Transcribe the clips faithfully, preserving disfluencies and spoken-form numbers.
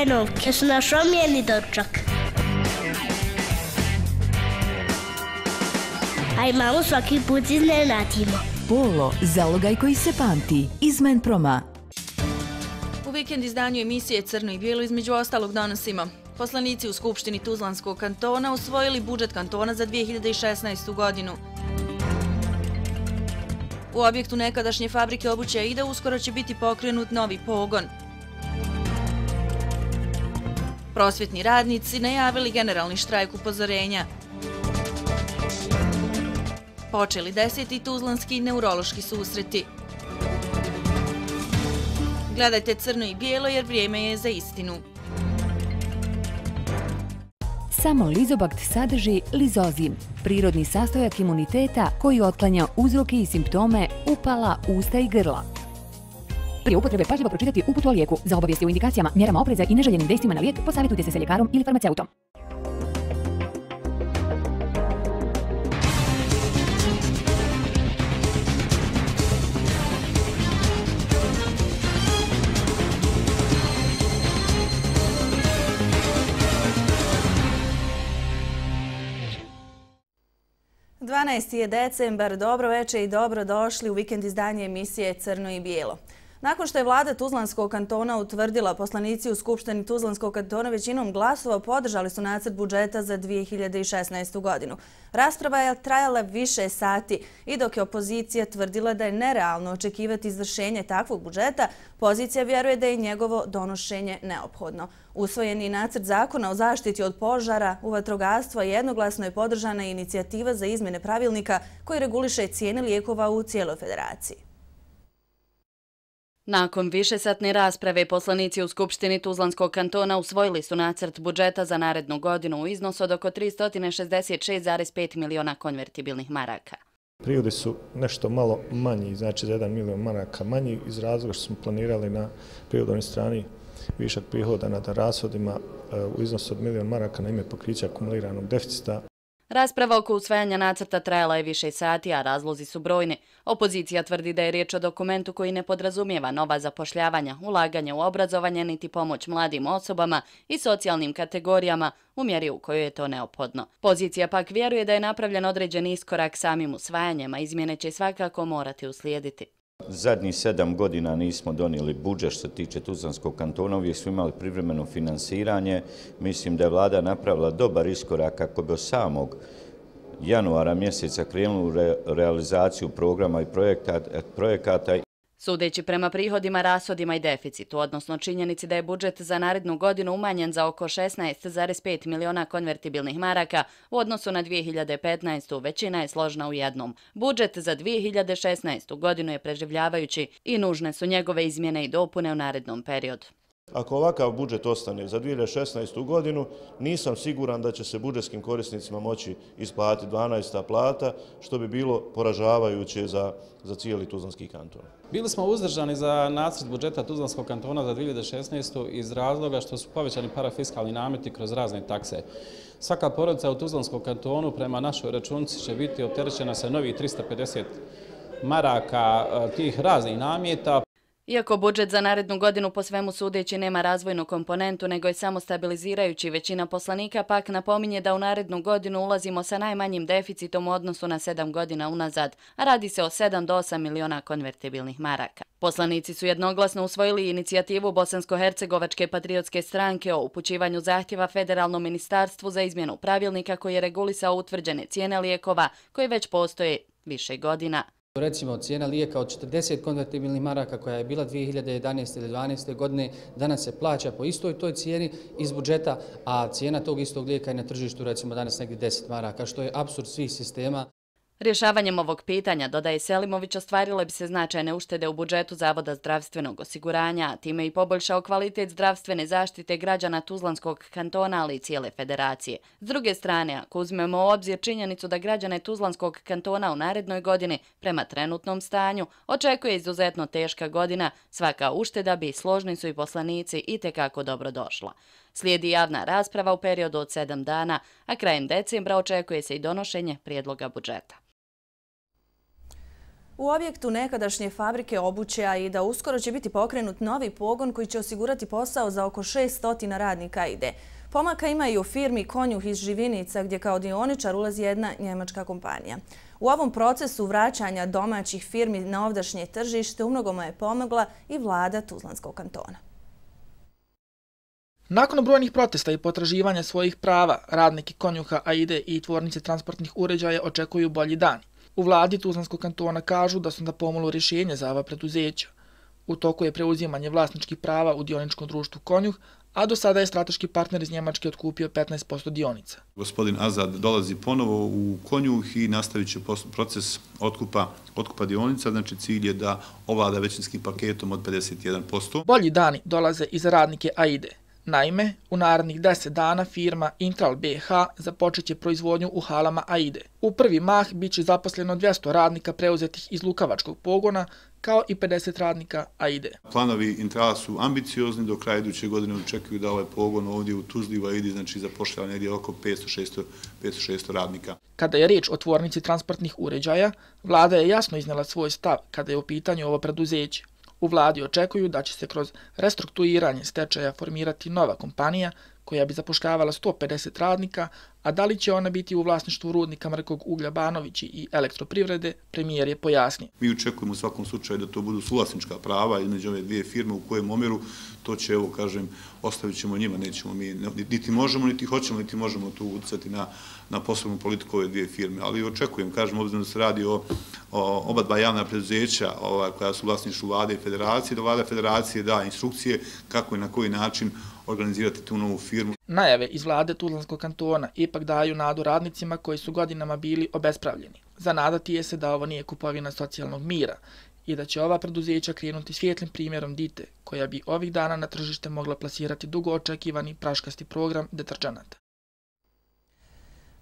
hrenovke su naš omiljeni dočak. A imamo svaki put iznenadimo. Polo, zalogaj koji se pamti, iz Menproma. U vikend izdanju emisije Crno i bijelo između ostalog donosimo. Poslanici u Skupštini Tuzlanskog kantona usvojili budžet kantona za dvije hiljade šesnaestu. godinu. U objektu nekadašnje fabrike obuće Aida uskoro će biti pokrenut novi pogon. Prosvjetni radnici najavili generalni štrajk upozorenja. Počeli deseti tuzlanski neurološki susreti. Gledajte Crno i bijelo jer vrijeme je za istinu. Samo Lizobakt sadrži lizozim, prirodni sastojak imuniteta koji otklanja uzroke i simptome upala usta i grla. Prije upotrebe pažljivo pročitati uputu o lijeku. Za obavijesti o indikacijama, mjerama opreza i neželjenim dejstvima na lijek posavjetujte se sa ljekarom ili farmaceutom. dvanaesti je decembar, dobro večer i dobro došli u vikend izdanje emisije Crno i bijelo. Nakon što je vlada Tuzlanskog kantona utvrdila, poslanici u Skupštini Tuzlanskog kantona većinom glasova podržali su nacrt budžeta za dvije hiljade šesnaestu. godinu. Rasprava je trajala više sati i dok je opozicija tvrdila da je nerealno očekivati izvršenje takvog budžeta, pozicija vjeruje da je njegovo donošenje neophodno. Usvojeni nacrt zakona o zaštiti od požara u vatrogastvo jednoglasno je podržana inicijativa za izmjene pravilnika koji reguliše cijene lijekova u cijeloj federaciji. Nakon višesatne rasprave, poslanici u Skupštini Tuzlanskog kantona usvojili su nacrt budžeta za narednu godinu u iznosu od oko tristo šezdeset šest zarez pet miliona konvertibilnih maraka. Prihodi su nešto malo manji, znači za jedan milion maraka manji iz razloga što smo planirali na prihodovnoj strani višak prihoda nad rashodima u iznosu od milion maraka na ime pokrića akumuliranog deficita. Rasprava oko usvajanja nacrta trajala je više sati, a razlozi su brojni. Opozicija tvrdi da je riječ o dokumentu koji ne podrazumijeva nova zapošljavanja, ulaganje u obrazovanje niti pomoć mladim osobama i socijalnim kategorijama u mjeri u kojoj je to neophodno. Pozicija pak vjeruje da je napravljen određen iskorak samim usvajanjem, a izmjene će svakako morati uslijediti. Zadnjih sedam godina nismo donijeli budžet što se tiče Tuzlanskog kantona, uvijek smo imali privremeno finansiranje. Mislim da je vlada napravila dobar iskorak kako bi od samog januara mjeseca krenuli u realizaciju programa i projekata. Sudeći prema prihodima, rashodima i deficitu, odnosno činjenici da je budžet za narednu godinu umanjen za oko šesnaest zarez pet miliona konvertibilnih maraka u odnosu na dvije hiljade petnaestu. većina je složna u jednom. Budžet za dvije hiljade šesnaestu. godinu je preživljavajući i nužne su njegove izmjene i dopune u narednom periodu. Ako ovakav budžet ostane za dvije hiljade šesnaestu. godinu, nisam siguran da će se budžetskim korisnicima moći isplatiti dvanaesta plata, što bi bilo poražavajuće za, za cijeli Tuzlanski kanton. Bili smo uzdržani za nacrt budžeta Tuzlanskog kantona za dvije hiljade šesnaestu. iz razloga što su povećani parafiskalni nameti kroz razne takse. Svaka porodica u Tuzlanskom kantonu prema našoj računici će biti opterećena sa novih trista pedeset maraka tih raznih nameta. Iako budžet za narednu godinu po svemu sudeći nema razvojnu komponentu, nego je samo stabilizirajući, većina poslanika pak napominje da u narednu godinu ulazimo sa najmanjim deficitom u odnosu na sedam godina unazad, a radi se o sedam do osam miliona konvertibilnih maraka. Poslanici su jednoglasno usvojili inicijativu Bosansko-hercegovačke patriotske stranke o upućivanju zahtjeva federalnom ministarstvu za izmjenu pravilnika koji je regulisao utvrđene cijene lijekova koje već postoje više godina. Recimo, cijena lijeka od četrdeset konvertibilnih maraka koja je bila dvije hiljade jedanaeste ili dvanaeste. godine, danas se plaća po istoj toj cijeni iz budžeta, a cijena tog istog lijeka je na tržištu recimo danas negdje deset maraka, što je apsurd svih sistema. Rješavanjem ovog pitanja, dodaje Selimović, ostvarile bi se značajne uštede u budžetu Zavoda zdravstvenog osiguranja, a time i poboljšao kvalitet zdravstvene zaštite građana Tuzlanskog kantona, ali i cijele federacije. S druge strane, ako uzmemo u obzir činjenicu da građane Tuzlanskog kantona u narednoj godini, prema trenutnom stanju, očekuje izuzetno teška godina, svaka ušteda bi, složni su i poslanici, itekako dobro došla. Slijedi javna rasprava u periodu od sedam dana, a krajem decembra očekuje se i donošenje prijedloga budžeta. U objektu nekadašnje fabrike obuće AIDA uskoro će biti pokrenut novi pogon koji će osigurati posao za oko šesto radnika AIDE. Pomaka ima i u firmi Konjuh iz Živinica gdje kao dioničar ulazi jedna njemačka kompanija. U ovom procesu vraćanja domaćih firmi na ovdašnje tržište umnogome je pomogla i vlada Tuzlanskog kantona. Nakon brojnih protesta i potraživanja svojih prava, radniki Konjuha, AIDE i tvornice transportnih uređaja očekuju bolji dani. U vladi Tuzlanskog kantona kažu da su na pomolu rješenje za ova preduzeća. U toku je preuzimanje vlasničkih prava u dioničkom društvu Konjuh, a do sada je strateški partner iz Njemačke otkupio petnaest posto dionica. Gospodin Azad dolazi ponovo u Konjuh i nastavit će proces otkupa, otkupa dionica, znači cilj je da ovlada većinskim paketom od pedeset jedan posto. Bolji dani dolaze i za radnike AIDE. Naime, u narednih deset dana firma Intral B H započeće proizvodnju u halama AIDE. U prvi mah bit će zaposleno dvjesto radnika preuzetih iz Lukavačkog pogona, kao i pedeset radnika AIDE. Planovi Intrala su ambiciozni, do kraja iduće godine očekuju da ovaj pogon ovdje u Tuzli u AIDE znači zapošljava negdje oko petsto do šesto radnika. Kada je riječ o tvornici transportnih uređaja, vlada je jasno iznijela svoj stav kada je u pitanju ovo preduzeće. U vladi očekuju da će se kroz restrukturiranje stečaja formirati nova kompanija koja bi zapošljavala sto pedeset radnika, a da li će ona biti u vlasništvu rudnika Mrkog uglja Banovići i elektroprivrede, premijer je pojasnio. Mi očekujemo u svakom slučaju da to budu suvlasnička prava između ove dvije firme, u kojem omjeru to će, evo kažem, ostavit ćemo njima, nećemo mi, niti možemo, niti hoćemo, niti možemo tu utjecati na, na poslovnu politiku ove dvije firme. Ali očekujem, kažem, obzirom da se radi o, o oba dva javna preduzeća ova, koja su vlasništvu vlade i federacije, da vlada federacije da instrukcije kako i na koji način organizirati tu novu firmu. Najave iz vlade Tuzlanskog kantona ipak daju nadu radnicima koji su godinama bili obespravljeni. Zanadati je se da ovo nije kupovina socijalnog mira i da će ova preduzeća krenuti svijetlim primjerom Dite, koja bi ovih dana na tržište mogla plasirati dugo očekivani praškasti program deterđenata.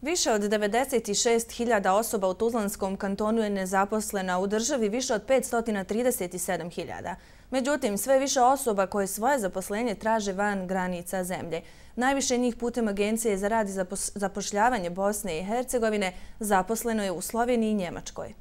Više od devedeset šest hiljada osoba u Tuzlanskom kantonu je nezaposlena, u državi više od petsto trideset sedam hiljada. Međutim, sve više osoba koje svoje zaposlenje traže van granica zemlje. Najviše njih putem Agencije za rad i zapošljavanje Bosne i Hercegovine zaposleno je u Sloveniji i Njemačkoj.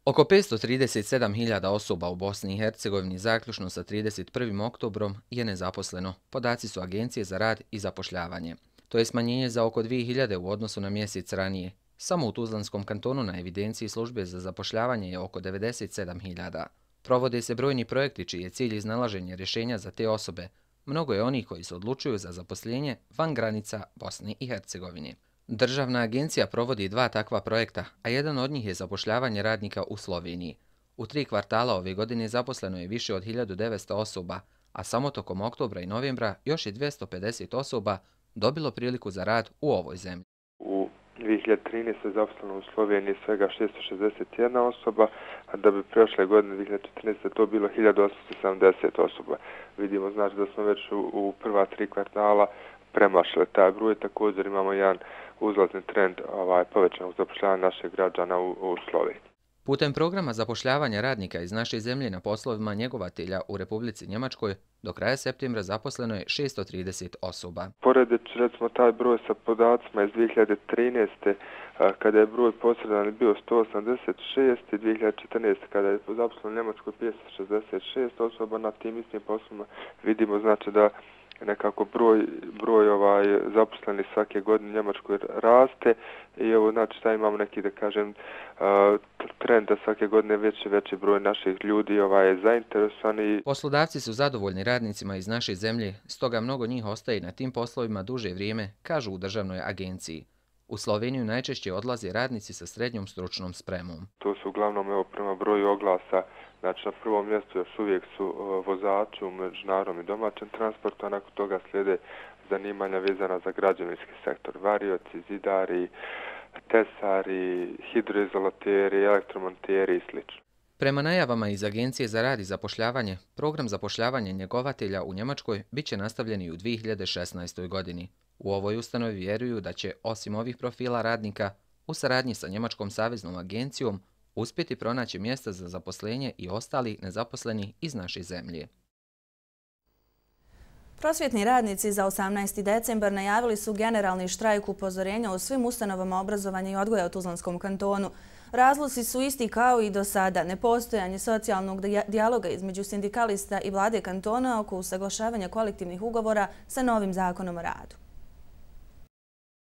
Oko petsto trideset sedam hiljada osoba u Bosni i Hercegovini zaključno sa trideset prvim oktobrom je nezaposleno. Podaci su Agencije za rad i zapošljavanje. To je smanjenje za oko dvije hiljade u odnosu na mjesec ranije. Samo u Tuzlanskom kantonu na evidenciji službe za zapošljavanje je oko devedeset sedam hiljada. Provode se brojni projekti čiji je cilj iznalaženje rješenja za te osobe. Mnogo je onih koji se odlučuju za zaposlenje van granica Bosne i Hercegovine. Državna agencija provodi dva takva projekta, a jedan od njih je zapošljavanje radnika u Sloveniji. U tri kvartala ove godine zaposleno je više od hiljadu devetsto osoba, a samo tokom oktobra i novembra još je dvjesto pedeset osoba dobilo priliku za rad u ovoj zemlji. U dvije hiljade trinaeste. zaposleno u Sloveniji svega šesto šezdeset jedna osoba, a da bi prošle godine dvije hiljade četrnaeste. to bilo hiljadu osamsto sedamdeset osoba. Vidimo znači da smo već u, u prva tri kvartala premašili taj broj. Također imamo jedan uzlazni trend ovaj, povećanog zapošljavanja naših građana u, u Sloveniji. Putem programa zapošljavanja radnika iz naše zemlje na poslovima njegovatelja u Republici Njemačkoj do kraja septembra zaposleno je šesto trideset osoba. Poredeći recimo taj broj sa podacima iz dvije hiljade trinaeste. kada je broj posredan bio sto osamdeset šest i dvije hiljade četrnaeste. kada je zaposleno u Njemačkoj petsto šezdeset šest osoba na tim istim poslovima, vidimo znači da nekako broj, broj ovaj, zaposlenih svake godine u Njemačkoj raste i evo znači da imamo neki da kažem uh, trend da svake godine veći veći broj naših ljudi ovaj, je zainteresovani. Poslodavci su zadovoljni radnicima iz naše zemlje, stoga mnogo njih ostaje na tim poslovima duže vrijeme, kažu u državnoj agenciji. U Sloveniju najčešće odlaze radnici sa srednjom stručnom spremom. To su uglavnom evo, prema broju oglasa, znači na prvom mjestu još uvijek su uh, vozači u međunarodnom i domaćem transportu, a nakon toga slijede zanimanja vezana za građevinski sektor, varioci, zidari, tesari, hidroizolateri, elektromonteri i sl. Prema najavama iz Agencije za rad i zapošljavanje, program zapošljavanja njegovatelja u Njemačkoj bit će nastavljen i u dvije hiljade šesnaestoj. godini. U ovoj ustanovi vjeruju da će, osim ovih profila radnika, u saradnji sa Njemačkom saveznom agencijom uspjeti pronaći mjesta za zaposlenje i ostali nezaposleni iz naše zemlje. Prosvjetni radnici za osamnaesti decembar najavili su generalni štrajk upozorenja u svim ustanovama obrazovanja i odgoja u Tuzlanskom kantonu. Razlozi su isti kao i do sada. Nepostojanje socijalnog dijaloga između sindikalista i vlade kantona oko usaglašavanja kolektivnih ugovora sa novim zakonom o radu.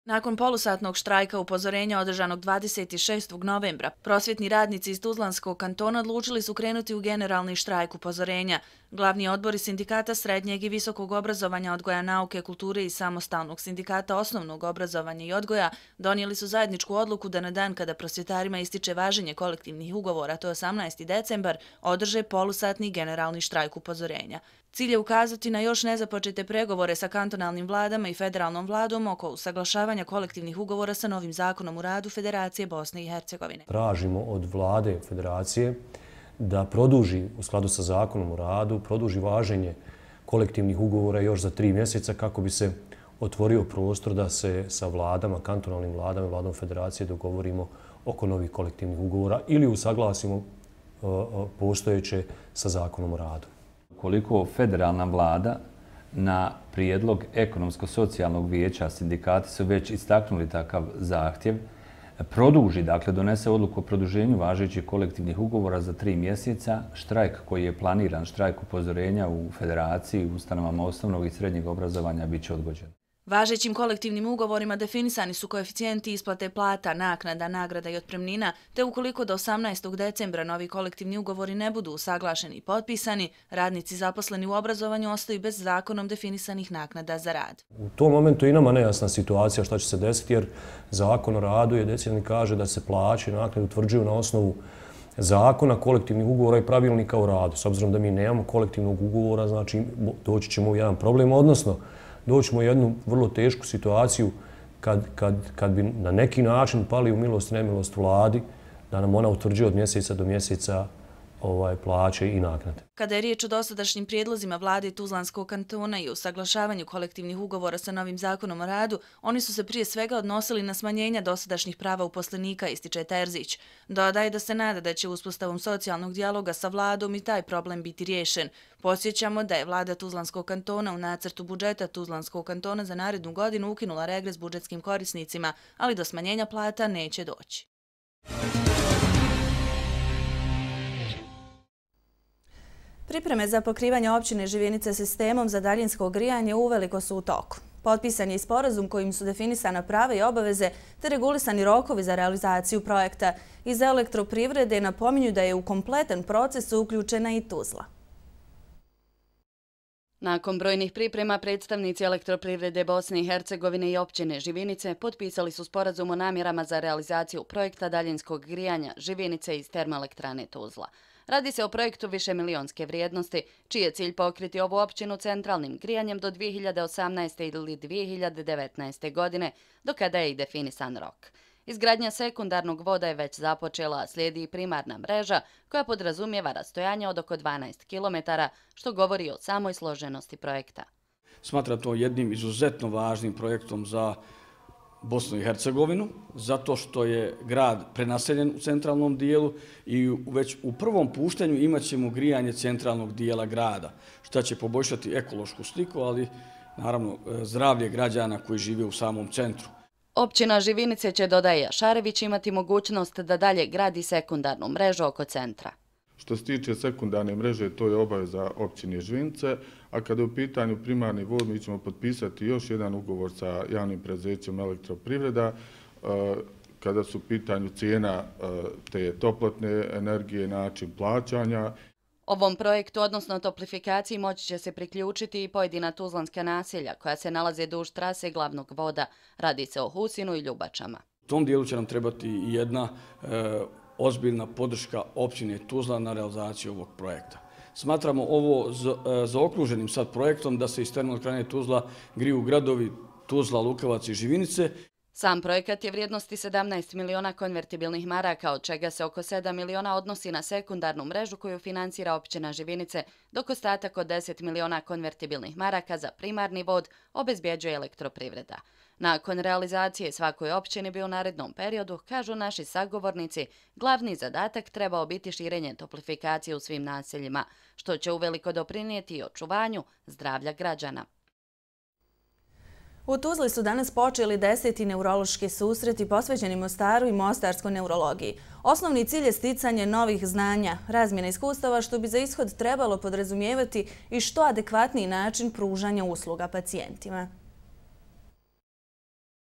Nakon polusatnog štrajka upozorenja održanog dvadeset šestog novembra, prosvjetni radnici iz Tuzlanskog kantona odlučili su krenuti u generalni štrajk upozorenja. Glavni odbori sindikata srednjeg i visokog obrazovanja, odgoja, nauke, kulture i samostalnog sindikata osnovnog obrazovanja i odgoja donijeli su zajedničku odluku da na dan kada prosvjetarima ističe važenje kolektivnih ugovora, to je osamnaesti decembar, održe polusatni generalni štrajk upozorenja. Cilj je ukazati na još nezapočete pregovore sa kantonalnim vladama i federalnom vladom oko usaglašavanja kolektivnih ugovora sa novim zakonom o radu Federacije Bosne i Hercegovine. Tražimo od vlade Federacije da produži u skladu sa zakonom o radu, produži važenje kolektivnih ugovora još za tri mjeseca kako bi se otvorio prostor da se sa vladama, kantonalnim vladama, vladom Federacije dogovorimo oko novih kolektivnih ugovora ili usaglasimo postojeće sa zakonom o radu. Koliko federalna vlada na prijedlog ekonomsko-socijalnog vijeća, sindikati su već istaknuli takav zahtjev, produži, dakle donese odluku o produženju važećih kolektivnih ugovora za tri mjeseca, štrajk koji je planiran, štrajk upozorenja u Federaciji, u ustanovama osnovnog i srednjeg obrazovanja bit će odgođen. Važećim kolektivnim ugovorima definisani su koeficijenti isplate plata, naknada, nagrada i otpremnina, te ukoliko do osamnaestog decembra novi kolektivni ugovori ne budu usaglašeni i potpisani, radnici zaposleni u obrazovanju ostaju bez zakonom definisanih naknada za rad. U tom momentu i nama nejasna situacija šta će se desiti, jer zakon o radu je decidan i kaže da se plaće i naknade utvrđuju na osnovu zakona, kolektivnih ugovora i pravilnika o radu. S obzirom da mi nemamo kolektivnog ugovora, znači doći ćemo u jedan problem, odnosno doćemo u jednu vrlo tešku situaciju kad, kad, kad bi na neki način pali u milost i nemilost vladi, da nam ona utvrđuje od mjeseca do mjeseca ovaj, plaće i naknade. Kada je riječ o dosadašnjim prijedlozima vlade Tuzlanskog kantona i usaglašavanju kolektivnih ugovora sa novim zakonom o radu, oni su se prije svega odnosili na smanjenja dosadašnjih prava uposlenika, ističe Terzić. Dodaje da se nada da će uspostavom socijalnog dijaloga sa vladom i taj problem biti riješen. Podsjećamo da je vlada Tuzlanskog kantona u nacrtu budžeta Tuzlanskog kantona za narednu godinu ukinula regres budžetskim korisnicima, ali do smanjenja plata neće doći. Pripreme za pokrivanje općine Živinice sistemom za daljinsko grijanje uveliko su u toku. Potpisan je i sporazum kojim su definisana prava i obaveze te regulisani rokovi za realizaciju projekta. Iz elektroprivrede napominju da je u kompletan proces uključena i Tuzla. Nakon brojnih priprema, predstavnici elektroprivrede Bosne i Hercegovine i općine Živinice potpisali su sporazum o namjerama za realizaciju projekta daljinskog grijanja Živinice iz termoelektrane Tuzla. Radi se o projektu višemilionske vrijednosti, čiji je cilj pokriti ovu općinu centralnim grijanjem do dvije hiljade osamnaeste. ili dvije hiljade devetnaeste. godine, do kada je i definisan rok. Izgradnja sekundarnog voda je već započela, a slijedi i primarna mreža koja podrazumijeva rastojanje od oko dvanaest kilometara, što govori o samoj složenosti projekta. Smatram to jednim izuzetno važnim projektom za Bosnu i Hercegovinu, zato što je grad prenaseljen u centralnom dijelu i već u prvom puštanju imat ćemo grijanje centralnog dijela grada, što će poboljšati ekološku sliku, ali naravno zdravlje građana koji žive u samom centru. Općina Živinice će, dodaje Šarević, imati mogućnost da dalje gradi sekundarnu mrežu oko centra. Što se tiče sekundarne mreže, to je obaveza općine Živinice, a kada je u pitanju primarni vod, mi ćemo potpisati još jedan ugovor sa javnim preduzećem Elektroprivreda, kada su u pitanju cijena te toplotne energije, način plaćanja. Ovom projektu, odnosno toplifikaciji, moći će se priključiti i pojedina tuzlanska naselja koja se nalaze duž trase glavnog voda. Radi se o Husinu i Ljubačama. U tom dijelu će nam trebati i jedna e, ozbiljna podrška općine Tuzla na realizaciju ovog projekta. Smatramo ovo zaokruženim sad projektom da se iz termoelektrane Tuzla griju gradovi Tuzla, Lukavac i Živinice. Sam projekat je vrijednosti sedamnaest miliona konvertibilnih maraka, od čega se oko sedam miliona odnosi na sekundarnu mrežu koju financira općina Živinice, dok ostatak od deset miliona konvertibilnih maraka za primarni vod obezbjeđuje elektroprivreda. Nakon realizacije svakoj općini bi u narednom periodu, kažu naši sagovornici, glavni zadatak trebao biti širenje toplifikacije u svim naseljima, što će uveliko doprinijeti i očuvanju zdravlja građana. U Tuzli su danas počeli deseti neurološki susreti posvećeni Mostaru i mostarskoj neurologiji. Osnovni cilj je sticanje novih znanja, razmjena iskustava što bi za ishod trebalo podrazumijevati i što adekvatniji način pružanja usluga pacijentima.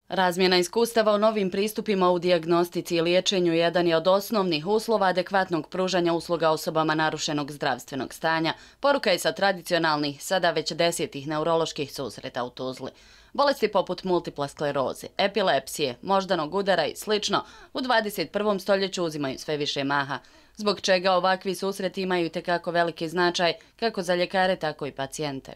Razmjena iskustava u novim pristupima u dijagnostici i liječenju jedan je od osnovnih uslova adekvatnog pružanja usluga osobama narušenog zdravstvenog stanja. Poruka je sa tradicionalnih, sada već desetih neuroloških susreta u Tuzli. Bolesti poput multipla skleroze, epilepsije, moždanog udara i slično u dvadeset prvom stoljeću uzimaju sve više maha, zbog čega ovakvi susreti imaju itekako veliki značaj kako za ljekare, tako i pacijente.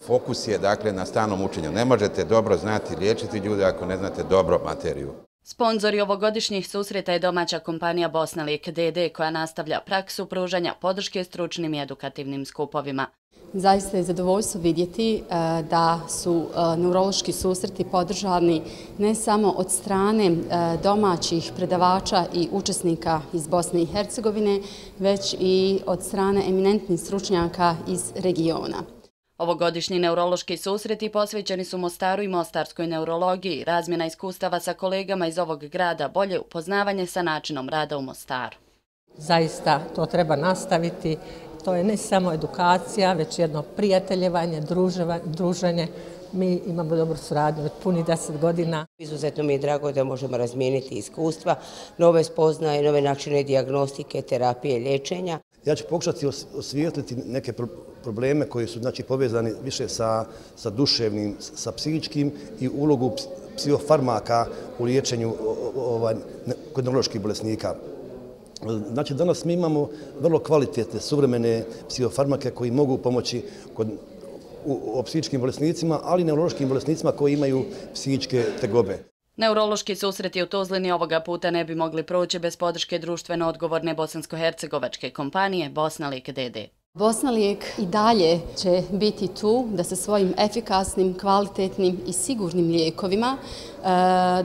Fokus je dakle na stalnom učenju. Ne možete dobro znati liječiti ljude ako ne znate dobro materiju. Sponzori ovogodišnjih susreta je domaća kompanija Bosnalijek D D koja nastavlja praksu pružanja podrške stručnim i edukativnim skupovima. Zaista je zadovoljstvo vidjeti da su neurološki susreti podržani ne samo od strane domaćih predavača i učesnika iz Bosne i Hercegovine, već i od strane eminentnih stručnjaka iz regiona. Ovogodišnji neurološki susreti posvećeni su Mostaru i mostarskoj neurologiji, razmjena iskustava sa kolegama iz ovog grada, bolje upoznavanje sa načinom rada u Mostaru. Zaista to treba nastaviti. To je ne samo edukacija, već jedno prijateljevanje, druženje. Mi imamo dobru suradnju od puni deset godina. Izuzetno mi je drago da možemo razmijeniti iskustva, nove spoznaje, nove načine dijagnostike, terapije, liječenja. Ja ću pokušati osvijetliti neke probleme koji su znači, povezani više sa, sa duševnim, sa psihičkim i ulogu psihofarmaka u liječenju ovaj, kod neuroloških bolesnika. Znači, danas mi imamo vrlo kvalitetne, suvremene psihofarmake koji mogu pomoći kod, u, o psihičkim bolesnicima, ali i neurološkim bolesnicima koji imaju psihičke tegobe. Neurološki susreti u Tuzlini ovoga puta ne bi mogli proći bez podrške društveno odgovorne bosansko-hercegovačke kompanije Bosnalijek D D. Bosnalijek i dalje će biti tu da sa svojim efikasnim, kvalitetnim i sigurnim lijekovima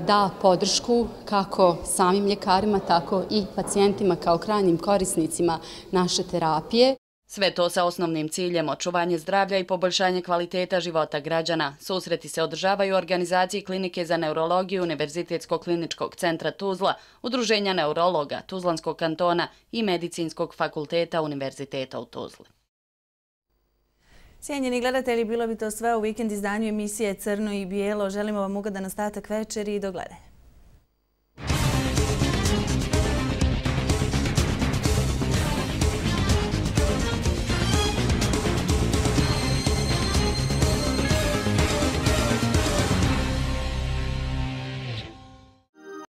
da podršku kako samim ljekarima, tako i pacijentima kao krajnjim korisnicima naše terapije. Sve to sa osnovnim ciljem očuvanje zdravlja i poboljšanje kvaliteta života građana. Susreti se održavaju u organizaciji Klinike za neurologiju Univerzitetskog kliničkog centra Tuzla, Udruženja neurologa Tuzlanskog kantona i Medicinskog fakulteta Univerziteta u Tuzli. Cijenjeni gledatelji, bilo bi to sve u vikend izdanju emisije Crno i bijelo. Želimo vam ugodan ostatak večeri i do gledanja.